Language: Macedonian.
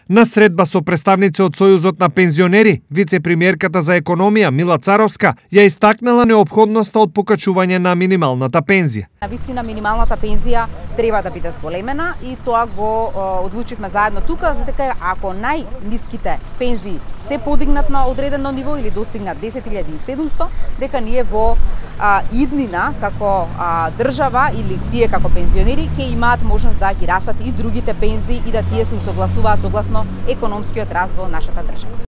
На средба со представници од Сојузот на пензионери, вице-премиерката за економија Мила Царовска ја истакнала неопходноста од покачување на минималната пензија. Навистина минималната пензија треба да биде зголемена и тоа го одлучивме заедно тука, за дека ако најниските пензии се подигнат на одредено ниво или достигнат 10.700, дека ние во иднина како држава или тие како пензионери ќе имаат можност да ги растат и другите пензии и да тие се усогласуваат согласно економскиот раст во нашата држава.